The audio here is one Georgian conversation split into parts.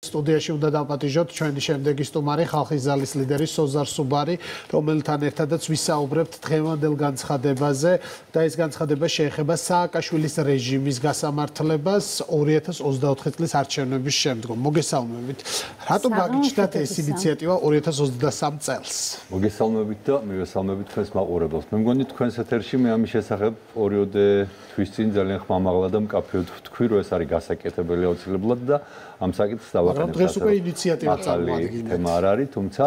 სტუდიაში უნდა დავპატიჟოთ ჩვენი შემდეგი სტუმარი, ხალხის ზალის ლიდერი სოზარ სუბარი, რომელთან ერთადაც ვისაუბრებთ დღევანდელ განცხადებაზე და ეს განცხადება შეეხება სააკაშვილის რეჟიმის გასამართლებას 2024 წლის არჩევნების შემდგომ. მოგესალმებით. რატომ გაგიჩნდათ ეს ინიციატივა 2023 წელს? მოგესალმებით და მივესალმებით თქვენს მაყურებელს. მე მგონი თქვენს ეთერში მე ამის შესახებ 2 თვის წინ ძალიან ხმამაღლა და მკაფიოდ ვთქვი, რომ ეს არის გასაკეთებელი აუცილებლად და ამ საკითხს დავაყენებ. დღეს უკვე ინიციატივა წარმოადგენთ. თემა არ არის, თუმცა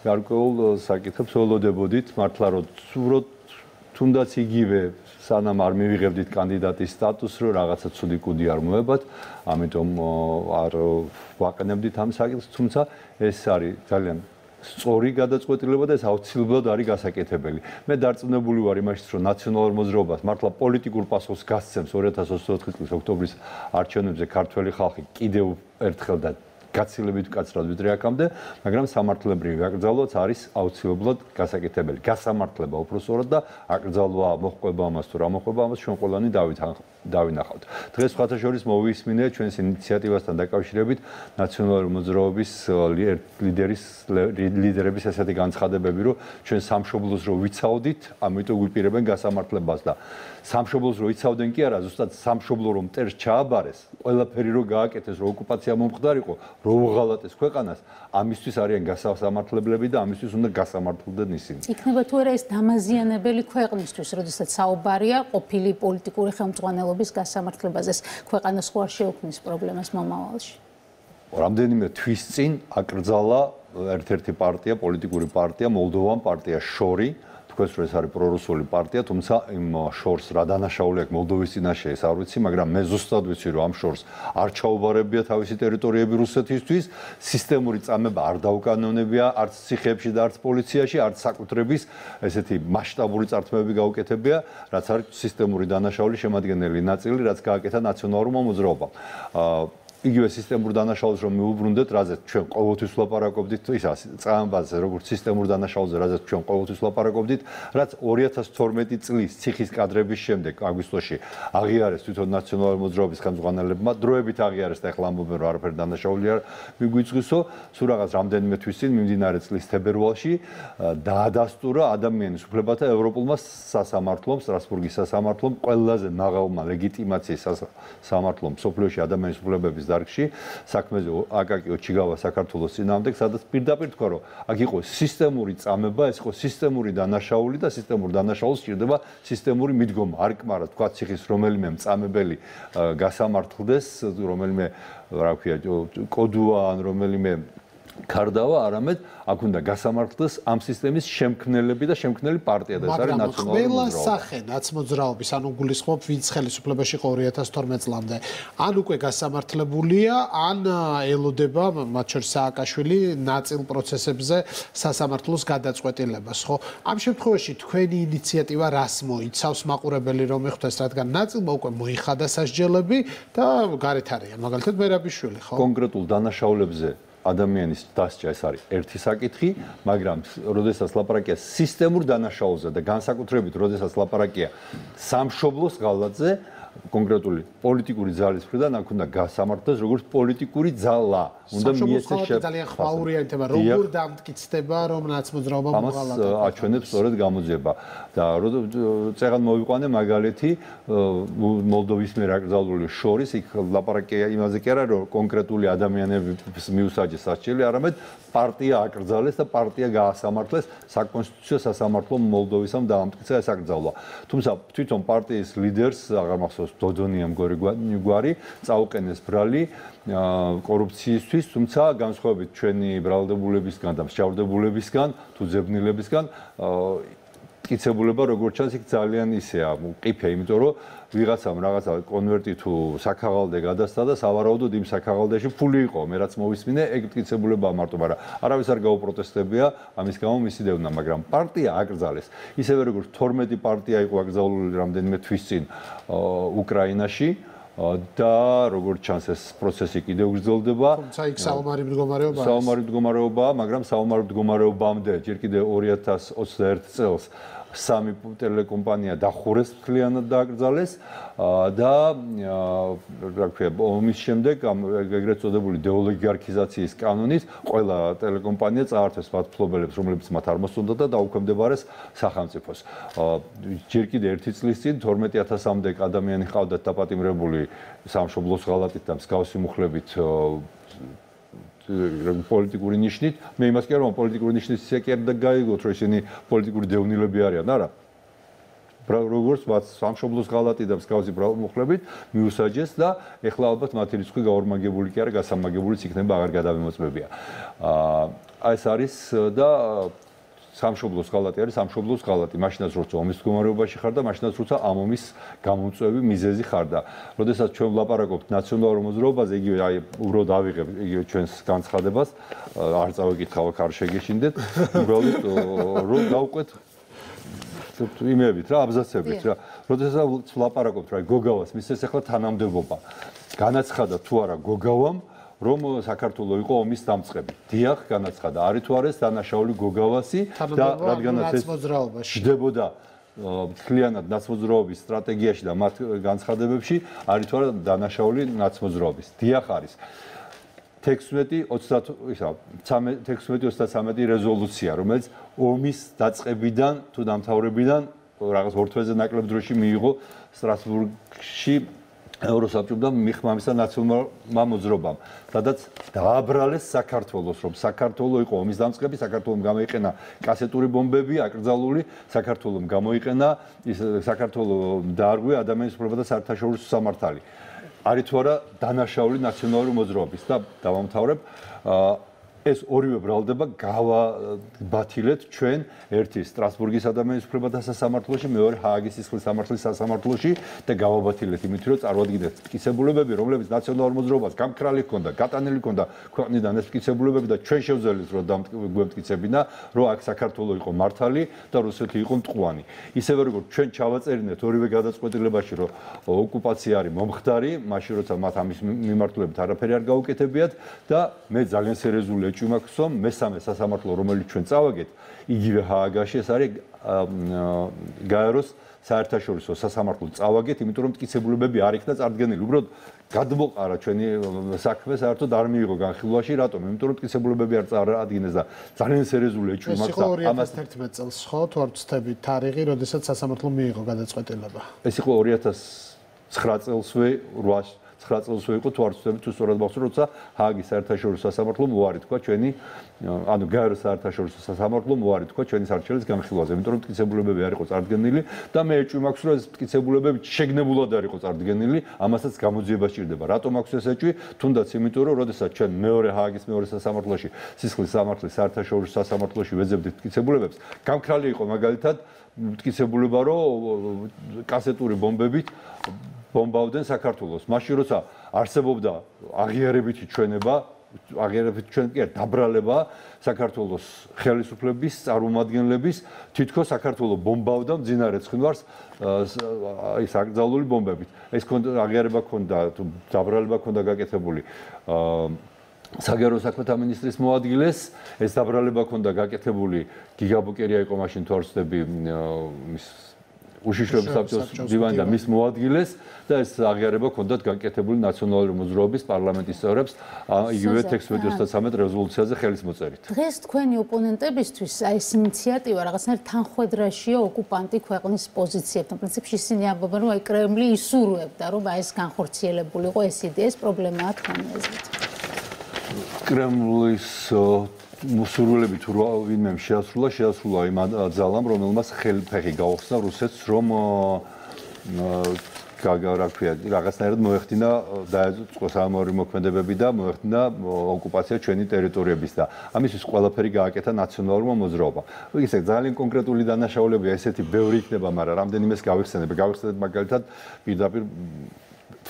გარკვეულ საკითხებს ველოდებოდით, მართლა რომ თუნდაც იგივე სანამ არ მივიღებდით კანდიდატის სტატუსს, რომ რაღაცა ცუდი კუდი არ მოებათ, ამიტომ არ ვაყენებდით ამ საკითხს, თუმცა ეს არის ძალიან სწორი გადაწყვეტილება და ეს აუცილებლად არის გასაკეთებელი. მე დარწმუნებული ვარ იმაშიც, რომ ნაციონალურ მოძრაობას მართლა პოლიტიკურ პასუხს გასცემს 2024 წლის ოქტომბრის არჩევნებზე ქართველი ხალხი კიდევ ერთხელ და გაცილებით მკაცრად ვიდრე აქამდე, მაგრამ სამართლებრივი აკრძალვაც არის აუცილებლად გასაკეთებელი. გასამართლება უпроსტად და აკრძალვა მოხდება ამას თუ რა მოხდება ამას ჩვენ ყველანი დავინახავთ. დღეს სხვათაშორის მოვისმინე ჩვენს ინიციატივასთან დაკავშირებით ნაციონალური მოძრაობის ლიდერების ესეთი განცხადებები, რომ ჩვენ სამშობლოს რო ვიცავდით, ამიტომ გვიპირებენ გასამართლებას და სამშობლოს რო იცავდნენ კი არა, ზუსტად სამშობლო რომ მტერს ჩააბარეს, ყველაფერი რო გააკეთეს, რო ოკუპაცია მომხდარიყო, რო უღალატეს ქვეყანას, ამისთვის არიან გასამართლებლები და ამისთვის უნდა გასამართლდნენ ისინი. იქნება თუ არა ეს დამაზიანებელი ქვეყნისთვის, როდესაც საუბარია ყოფილი პოლიტიკური ხელმძღვანელობის გასამართლებაზე, ქვეყანას ხო არ შეუქმნის პრობლემას მომავალში? რამდენიმე თვის წინ აკრძალა ერთ-ერთი პარტია, პოლიტიკური პარტია, მოლდოვან პარტია შორი, თქვენს რომ ეს არის პრორუსული პარტია, თუმცა იმ შორს რა დანაშაული აქვს მოლდოვის წინაშე, ეს არ ვიცი, მაგრამ მე ზუსტად ვიცი, რომ ამ შორს არ ჩაუბარებია თავისი ტერიტორიები რუსეთისთვის, სისტემური წამება არ დაუკანონებია არც ციხეებში და არც პოლიციაში, არც საკუთრების ესეთი მასშტაბური წართმევები გაუკეთებია, რაც არის სისტემური დანაშაული შემადგენელი ნაწილი, რაც გააკეთა ნაციონალურმა მოძრაობამ. იგივე სისტემურ დანაშაულს რომ მიუბრუნდეთ, რაზეც ჩვენ ყოველთვის ვლაპარაკობდით, ის წამებაზე, როგორც სისტემურ დანაშაულზე, რაზეც ჩვენ ყოველთვის ვლაპარაკობდით, რაც 2012 წლის ციხის კადრების შემდეგ აგვისტოში აღიარეს თვითონ ნაციონალური მოძრაობის ხელმძღვანელებმა, დროებით აღიარეს და ახლა ამბობენ, რომ არაფერი დანაშაული არ მიგვიწვისო, სულ რაღაც რამდენიმე თვის წინ მიმდინარე წლის თებერვალში დაადასტურა ადამიანის უფლებათა ევროპულმა სასამართლომ, სტრასბურგის სასამართლომ, ყველაზე მაღალმა ლეგიტიმაციის სასამართლომ მსოფლიოში ადამიანის უფლებების დარგში საქმეზე აკაკი ოჩიგავა საქართველოს წინააღმდეგ, სადაც პირდაპირ თქვა, რომ აქ იყო სისტემური წამება, ეს იყო სისტემური დანაშაული და სისტემურ დანაშაულს სჭირდება სისტემური მიდგომა. არ კმარა თქვა ციხის რომელიმე მწამებელი გასამართლდეს, რომელიმე რა ქვია, კოდუა ან რომელიმე ქარდავა, არამედ აქ უნდა გასამართლდეს ამ სისტემის შემქმნელები და შემქმნელი პარტია და ეს არის ნაციონალური მოძრაობა. ყველა სახე ნაცმოძრაობის, ანუ გულისხმობ ვინც ხელისუფლებაში იყო 2012 წლამდე, ან უკვე გასამართლებულია, ან ელოდება, მათ შორის სააკაშვილი, ნაწილ პროცესებზე სასამართლოს გადაწყვეტილებას, ხო? ამ შემთხვევაში თქვენი ინიციატივა რას მოიცავს, მაყურებელი რომ ეხოთ, რადგან ნაწილმა უკვე მოიხადა სასჯელები და გარეთ არიან, მაგალითად მერაბიშვილი, ხო? კონკრეტულ დანაშაულებზე ადამიანის დასჯა ეს არის ერთი საკითხი, მაგრამ როდესაც ლაპარაკია სისტემურ დანაშაულზე და განსაკუთრებით როდესაც ლაპარაკია სამშობლოს ღალატზე, კონკრეტული პოლიტიკური ძალის მხრიდან აქ უნდა გასამართლდეს როგორც პოლიტიკური ძალა. უნდა მიეცეს ძალიან ხმაურია თემა, როგორ დამტკიცდება, რომ ნაცმოძრაობა მოღალატა. ამას აჩვენებს სწორედ გამოძიება. და წეგან მოვიყვანე მაგალითი მოლდოვის მიერ აკრძალული შორის, იქ ლაპარაკია იმაზე კი არა, რომ კონკრეტული ადამიანების მიუსაჯეს სასჯელი, არამედ პარტია აკრძალეს და პარტია გაასამართლეს საკონსტიტუციო სასამართლომ მოლდოვისამ დაამტკიცა ეს აკრძალვა. თუმცა თვითონ პარტიის ლიდერს აღარ მახსოვს დოდონია მგვარი წაუყენეს ბრალი კორუფციისთვის, თუმცა განსხვავებით ჩვენი ბრალდებულებისგან და მსჯავრდებულებისგან თუ ძებნილებისგან მტკიცებულება როგორც ჩანს იქ ძალიან ისეა მყიფე, იმიტომ რომ ვიღაცამ რაღაცა კონვერტი თუ საქაღალდე გადასცა და სავარაუდოდ იმ საქაღალდეში ფული იყო, მე რაც მოვისმინე, ეგ მტკიცებულებაა მარტო, მაგრამ არავის არ გაუპროტესტებია ამის გამო მისი დევნა, მაგრამ პარტია აკრძალეს. ისევე როგორც 12 პარტია იყო აკრძალული რამდენიმე თვის წინ უკრაინაში და როგორც ჩანს ეს პროცესი კიდევ გრძელდება. თუმცა იქ საომარი მდგომარეობაა. საომარი მდგომარეობაა, მაგრამ საომარი მდგომარეობამდე ჯერ კიდევ 2021 წელს 3 ტელეკომპანია დახურეს მთლიანად დააკრძალეს და რა ქვია ომის შემდეგ ეგრეთ წოდებული დეოლიგარქიზაციის კანონის ყველა ტელეკომპანია წაართვეს მათ მფლობელებს რომლებიც მათ არ მოსწონდათ და დაუქვემდებარეს სახელმწიფოს. ჯერ კიდე 1 წლის წინ 12000-მდე ადამიანი ჰყავდათ დაპატიმრებული სამშობლოს ღალატით და მსგავსი მუხლებით პოლიტიკური ნიშნით. მე იმას კი არ ვამბობ პოლიტიკური ნიშნით ისე კი არ გაიგოთ რომ ისინი პოლიტიკური დევნილები არიან, არა. როგორც მათ სამშობლოს ღალატი და მსგავსი მუხლებით მიუსაჯეს და ეხლა ალბათ მათი რიცხვი გაორმაგებული კი არა, გასამაგებულიც იქნება, აღარ გადამემოწმებია. ეს არის და სამშობლოს ღალატი არის სამშობლოს ღალატი. მაშინაც როცა ომის მდგომარეობაში ხარ და მაშინაც როცა ამ ომის გამომწვევი მიზეზი ხარ და როდესაც ჩვენ ვლაპარაკობთ ნაციონალურ მოძრაობაზე, იგივე აი უბრალოდ ავიღებ იგივე ჩვენს განცხადებას, არ წავიკითხავ, არ შეგეშინდეთ, უბრალოდ რომ გავყვეთ იმებით რა, აბზაცებით რა. როდესაც ვლაპარაკობთ რა გოგავას, მისცეს ახლა თანამდებობა. განაცხადა თუ არა გოგავამ რომ საქართველოს იყო ომის დამწყები. დიახ, განაცხადა. არის თუ არა ეს დანაშაული გოგავასი და რადგანაც ეს ჯდებოდა მთლიანად ნაცმოძრაობის სტრატეგიაში და მათ განცხადებებში, არის თუ არა დანაშაული ნაცმოძრაობის. დიახ არის. 16-23 რეზოლუცია, რომელიც ომის დაწყებიდან თუ დამთავრებიდან რაღაც ორ თვეზე ნაკლებ დროში მიიღო სტრასბურგში ევროსაბჭომ და მიხმამისა ნაციონალურმა მოძრაობამ, სადაც დააბრალეს საქართველოს, რომ საქართველოს იყო ომის დამწყები, საქართველოს გამოიყენა კასეტური ბომბები, აკრძალული, საქართველოს გამოიყენა საქართველოს დაარღვია ადამიანის უფლებათა და საერთაშორისო სამართალი. არის თუ არა დანაშაული ნაციონალური მოძრაობის და დავამთავრებ ეს ორივე ბრალდება გავაბათილეთ ჩვენ ერთი სტრასბურგის ადამიანის უფლებათა სასამართლოში, მეორე ჰააგის სისხლის სამართლის სასამართლოში და გავაბათილეთ იმით, რომ წარმოადგინეთ მტკიცებულებები, რომლებიც ნაციონალურ მოძრაობას გამქრალი ჰქონდა, გატანილი ჰქონდა ქვეყნიდან ეს მტკიცებულებები და ჩვენ შევძელით, რომ გვემტკიცებინა, რომ აქ საქართველოს იყო მართალი და რუსეთი იყო მტყუანი. ისევე როგორც ჩვენ ჩავაწერინეთ ორივე გადაწყვეტილებაში, რომ ოკუპაცია არის მომხდარი, მაშინ როცა მათ ამის მიმართულებით არაფერი არ გაუკეთებიათ და მე ძალიან სერიოზული ჭუმაქსო მესამე სასამართლო რომელიც ჩვენ წავაგეთ იგივე ჰააგაში ეს არის გაეროს საერთაშორისო სასამართლო წავაგეთ იმიტომ რომ მტკიცებულებები არ იქნა წარდგენილი უბრალოდ გადმოყარა ჩვენი საქმე საერთოდ არ მიიღო განხილვაში რატომ იმიტომ რომ მტკიცებულებები არ წარადგინეს და ძალიან სერიოზული ჭუმაქსა ამას 2011 წელს ხო თუ არ ვცდები თარიღი როდესაც სასამართლომ მიიღო გადაწყვეტილება ეს იყო 2009 წელსვე 9 წელს იყო თუ არ ვცდები თუ სწორად მახსოვს როცა ჰააგის საერთაშორისო სასამართლომ უარი თქვა ჩვენი ანუ გაეროს საერთაშორისო სასამართლომ უარი თქვა ჩვენი სარჩელის განხილვაზე იმიტომ რომ მტკიცებულებები არ იყო წარდგენილი და მე ეჭვი მაქვს რომ ეს მტკიცებულებები შეგნებულად არ იყო წარდგენილი ამასაც გამოძიება სჭირდება რატომ აქვს ეს ეჭვი თუნდაც იმიტომ რომ როდესაც ჩვენ მეორე ჰააგის მეორე სასამართლოში სისხლის სამართლის საერთაშორისო სასამართლოში ვეძებდით მტკიცებულებებს გამქრალი იყო მაგალითად მტკიცებულება რომ კასეტური ბომბებით ბომბავდნენ საქართველოს. მაშინ როცა არსებობდა აღიარებითი ჩვენება, აღიარებითი ჩვენება კი არა, დაბრალება საქართველოს ხელისუფლების წარმომადგენლების თითქოს საქართველოს ბომბავდა მძინარე ცხინვარს ის აკრძალული ბომბებით. ეს აღიარება ქონდა, დაბრალება ქონდა გაკეთებული საგარეო საქმეთა მინისტრის მოადგილეს, ეს დაბრალება ქონდა გაკეთებული გიგაბუკერია იყო მაშინ თუ არ ვცდები მის უშიშროების საბჭოს დივანი და მის მოადგილეს და ეს აღიარება ჰქონდათ გაკეთებული ნაციონალური მოძრაობის პარლამენტის წევრებს იგივე 16-23 რეზოლუციაზე ხელის მოწერით. დღეს თქვენი ოპონენტებისთვის აი ეს ინიციატივა რაღაცნაირად თანხwebdriverშია ოკუპანტი ქვეყნის პოზიციებთან. პრინციპში ისინი ამბობენ რომ აი კრემლი ისურვებდა რომ აი ეს განხორციელებულიყო ეს იდეა, ეს პრობლემაა თქვენი აზრით. კრემლის მოსურვილები თუ ვინმე შეასრულა იმ ძალამ, რომელმაც ხელფეხი გაუხსნა რუსეთს, რომ რაღაცნაირად მოეხდინა დაეწყო საომარი მოქმედებები და მოეხდინა ოკუპაცია ჩვენი ტერიტორიების და ამისთვის ყველაფერი გააკეთა ნაციონალურმა მოძრაობამ. ისე ძალიან კონკრეტული დანაშაულებია, ესეთი ბევრი იქნება, მაგრამ რამდენიმეს გავიხსენებ მაგალითად პირდაპირ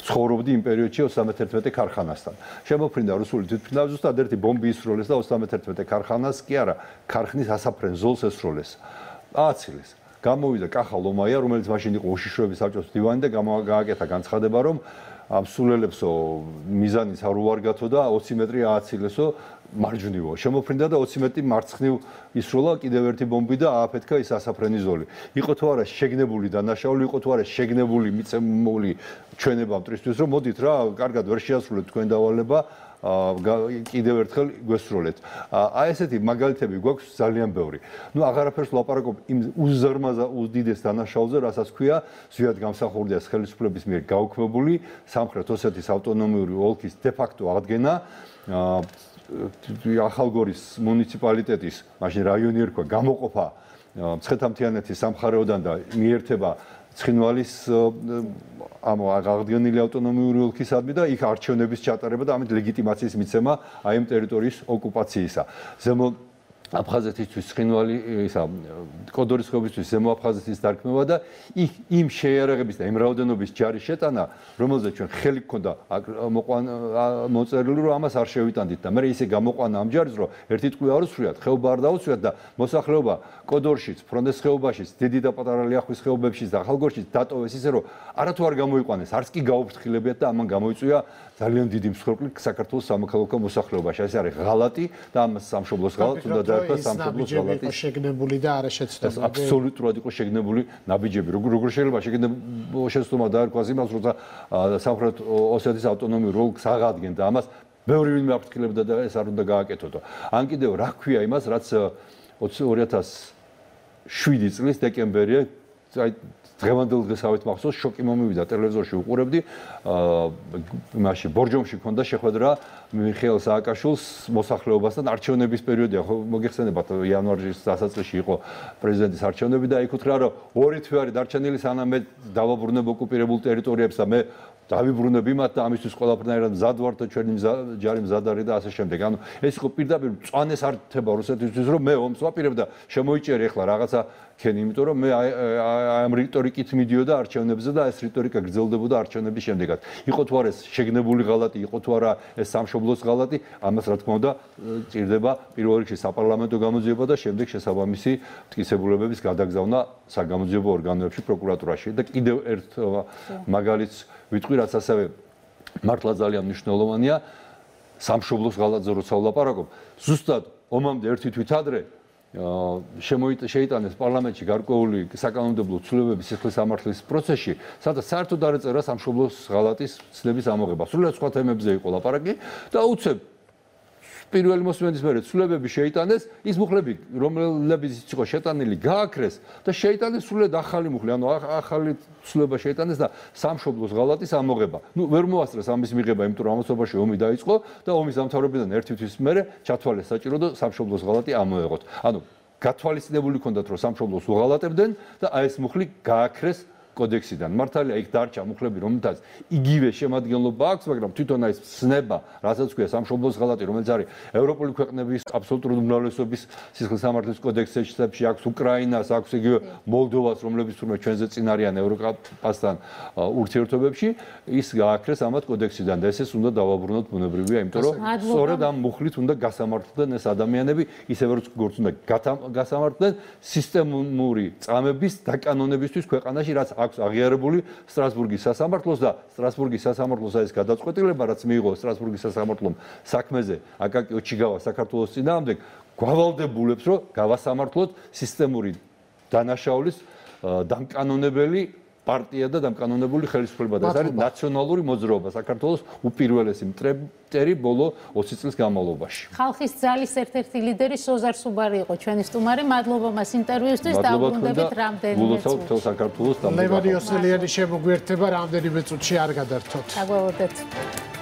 ცხოვრობდი იმ პერიოდში 31 ქარხანასთან. შემოფრინდა რუსული თვითმფრინავი ზუსტად ერთი ბომბი ისროლეს და 31 ქარხანას კი არა, ქარხნის ასაფრენ ზოლს ესროლეს. ააცილეს. გამოვიდა კახა ლომაია, რომელიც მაშინ იყო უშიშროების საბჭოს დივანი და გააკეთა განცხადება, რომ ამ სულელებსო მიზანიც არ უარგათო და 20 მეტრი ააცილესო მარჯვნივო. შემოფრინდა და 20 მეტრი მარცხნივ ისროლა კიდევ ერთი ბომბი და ააფეთქა ის ასაფრენი ზოლი. იყო თუ არა შეგნებული დანაშაული, იყო თუ არა შეგნებული მიწემული ჩვენება მტრისთვის, რომ მოდით რა, კარგად ვერ შეასრულეთ თქვენ დავალება, კიდევ ერთხელ გვესროლეთ. აი ესეთი მაგალითები გვაქვს ძალიან ბევრი. ნუ აღარაფერს ვლაპარაკობ იმ უზარმაზარ უდიდეს დანაშაულზე, რასაც ქვია, ზვიად გამსახურდია ხელისუფლების მიერ გაუქმებული სამხრეთ ოსეთის ავტონომიური ოლქის დე-ფაქტო აღდგენა. ახალგორის მუნიციპალიტეტის, მაშინ რაიონი ერქვა, გამოყოფა მცხეთა-მთიანეთის სამხარეოდან და მიერთება ცხინვალის ამ აღდგენილი ავტონომიური ოლქისადმი და იქ არჩევნების ჩატარება და ამით ლეგიტიმაციის მიცემა აი ამ ტერიტორიის ოკუპაციისა. ზემო აფხაზეთისთვის ცხინვალი ისა კოდორის ხეობისთვის ზემო აფხაზეთის დარქმევა და იმ შეიარაღების და იმ რაოდენობის ჯარის შეტანა, რომელზეც ჩვენ ხელი გქონდა მოწერილი, რომ ამას არ შევიტანდით და მე ისე გამოყვანა ამ ჯარის, რომ ერთი ტყვია არ უსვიათ, ხეობა არ დაუსვიათ და მოსახლეობა კოდორშიც, ფრონდეს ხეობაშიც, დიდი და პატარა ლიახვის ხეობებშიც და ახალგორშიც დატოვეს ისე, რომ არათუ არ გამოიყვანეს, არც კი გაუფრთხილებიათ და ამან გამოიწვია ძალიან დიდი მსხვერპლი საქართველოს სამოქალაქო მოსახლეობაში. ეს არის ღალატი და ამ სამშობლოს ღალატს უნდა დაერქვა სამშობლოს ღალატი. შეგნებული და არაშეცდომები. აბსოლუტურად იყო შეგნებული ნაბიჯები. როგორ შეიძლება შეცდომა დაერქვას იმას, როცა სამხრეთ ოსეთის ავტონომიური ოლქს აღადგენდა ამას, ბევრი ვინმე აფრთხილებდა და ეს არ უნდა გააკეთოდო. ან კიდევ რა ქვია იმას, რაც 2007 წლის დეკემბერია, აი დღევანდელ დღესავით მახსოვს, შოკი მომივიდა ტელევიზორში უყურებდი, იმაში ბორჯომში ქონდა შეხვედრა მიხეილ სააკაშვილს მოსახლეობასთან არჩევნების პერიოდია, ხო მოგეხსენებათ იანვარის დასაწყისში იყო პრეზიდენტის არჩევნები და იქ უთხრა, რომ 2 თვე არის დარჩენილი სანამ მე დავაბრუნებ ოკუპირებულ ტერიტორიებს და მე დავიბრუნებ იმათ და ამისთვის ყველაფერნაირად მზად ვარ და ჩვენი ჯარი მზად არის და ასე შემდეგ. ანუ ეს იყო პირდაპირ მწვანეს ართება რუსეთისთვის, რომ მე ომს ვაპირებ და შემოიჭერი ახლა რაღაცა ქენი, იმიტომ რომ მე ამ რიტორიკით მიდიოდა არჩევნებზე და ეს რიტორიკა გრძელდებოდა არჩევნების შემდეგაც. იყო თუ არა ეს შეგნებული ღალატი, იყო თუ არა ეს სამშობლოს ღალატი, ამას რა თქმა უნდა ჭირდება პირველ რიგში საპარლამენტო გამოძიება და შემდეგ შესაბამისი მტკიცებულებების გადაგზავნა საგამოძიებო ორგანოებში, პროკურატურაში და კიდევ ერთ მაგალითს ვიტყვი, რაც ასევე მართლა ძალიან მნიშვნელოვანია, სამშობლოს ღალატზე როცა ვლაპარაკობ, ზუსტად ომამდე ერთი თვით ადრე შეიტანეს პარლამენტში გარკვეული საკანონმდებლო ცვლილებების სიხლის სამართლის პროცესში, სადაც საერთოდ არ ეწერა სამშობლოს ღალატის ცნების ამოღება. სრულიად სხვა თემებზე იყო ლაპარაკი და უცებ პირველი მოსმენის მერე ცვლილებები შეიტანეს, ის მუხლები, რომლებიც იყო შეტანილი, გააქრეს და შეიტანეს სრულიად ახალი მუხლი, ანუ ახალი ცვლილება შეიტანეს და სამშობლოს ღალატის ამოღება. ნუ ვერ მოასწრეს ამის მიღება, იმიტომ რომ ამასობაში ომი დაიწყო და ომის დამთავრებიდან ერთი თვის მერე ჩათვალეს საჭირო და სამშობლოს ღალატი ამოეღოთ. ანუ გათვალისწინებული ჰქონდათ, რომ სამშობლოს უღალატებდნენ და აი ეს მუხლი გააქრეს კოდექსიდან. მართალია, იქ დარჩა მუხლები, რომელთაც იგივე შემადგენლობა აქვს, მაგრამ თვითონ აი ეს ცნება, რასაც ქვია სამშობლოს ღალატი, რომელიც არის ევროპული ქვეყნების აბსოლუტური უმრავლესობის სისხლის სამართლის კოდექსებში აქვს უკრაინას, აქვს იგივე მოლდოვას, რომლებიც თურმე ჩვენზე წინ არიან ევროპასთან ურთიერთობებში, ის გააქრეს ამათ კოდექსიდან და ესეც უნდა დავაბრუნოთ ბუნებრივია, იმიტომ რომ სწორედ ამ მუხლით უნდა გასამართლდნენ ეს ადამიანები, ისევე როგორც უნდა გასამართლდნენ სისტემური წამების დაკანონებისთვის ქვეყანაში, რაც აქვს აღიარებული სტრასბურგის სასამართლოს და სტრასბურგის სასამართლოს ეს გადაწყვეტილება, რაც მიიღო სტრასბურგის სასამართლომ საქმეზე აკაკი ოჩიგავა საქართველოს წინააღმდეგ, გავალდებულებს, რომ გავასამართლოთ სისტემური დანაშაულის დამკანონებელი პარტია და დამკანონებული ხელისუფლება და ეს არის ნაციონალური მოძრაობა საქართველოს უპირველესი მტერი ბოლო 20 წლის განმავლობაში. ხალხის ძალის ერთ-ერთი ლიდერი სოზარ სუბარი იყო ჩვენი სტუმარი. მადლობა მას ინტერვიუსთვის და უბრუნდებით რამდენიმე წუთში. საქართველოს ლევანი ოსელიანი შემოგვიერთება რამდენიმე წუთში არ გადართოთ. დაგვაუერთდეთ.